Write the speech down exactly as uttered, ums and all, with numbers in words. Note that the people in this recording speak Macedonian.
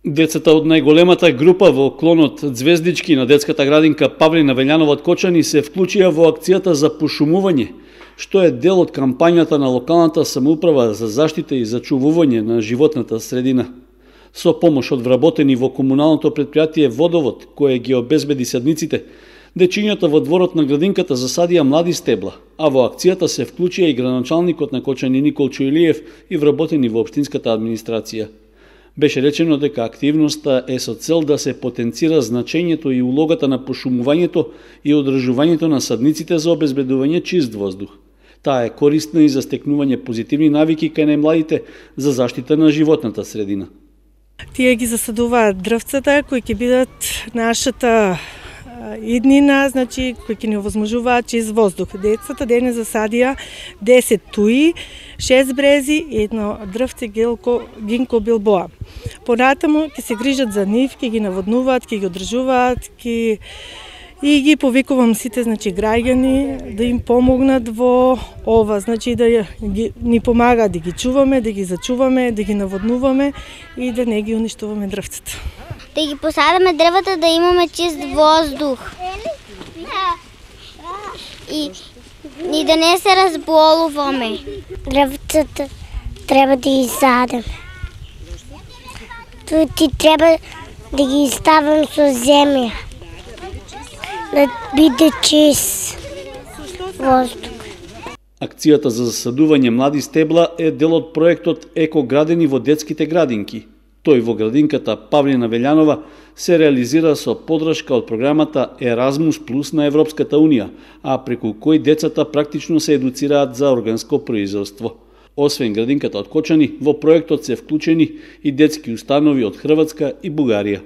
Децата од најголемата група во клонот Звездички на детската градинка Павлина Велјанова од Кочани се вклучија во акцијата за пошумување, што е дел од кампањата на локалната самоуправа за заштита и зачувување на животната средина. Со помош од вработени во комуналното предпријатие Водовод, кое ги обезбеди садниците, дечињата во дворот на градинката засадија млади стебла, а во акцијата се вклучија и градоначалникот на Кочани Никол Чујлиев и вработени во општинската администрација. Беше речено дека активноста е со цел да се потенцира значењето и улогата на пошумувањето и одржувањето на садниците за обезбедување чист воздух. Таа е корисна и за стекнување позитивни навики кај најмладите за заштита на животната средина. Тие ги засадуваат дрвцата кои ќе бидат нашата иднина, значи кои ќе ни овозможуваат чист воздух. Децата дене засадија десет туи, шест брези и едно дрвце гелко гинко билбоа. Понатаму ќе се грижат за нив, ќе ги наводнуваат, ќе ги одржуваат, ќе и ги повикувам сите, значи граѓани да им помогнат во ова, значи да ги, ни помагаат да ги чуваме, да ги зачуваме, да ги наводнуваме и да не ги уништуваме дрвцата. Да ги посадаме дрвата да имаме чист воздух. И, и да не се разболуваме. Дрвцата треба да ги садам. Ти треба да ги ставам со земја. Да биде чист воздух. Акцијата за засадување млади стебла е дел од проектот Еко градени во детските градинки. Тој во градинката Павлина Велјанова се реализира со поддршка од програмата Еразмус Плюс на Европската Унија, а преку кој децата практично се едуцираат за органско производство. Освен градинката од Кочани, во проектот се вклучени и детски установи од Хрватска и Бугарија.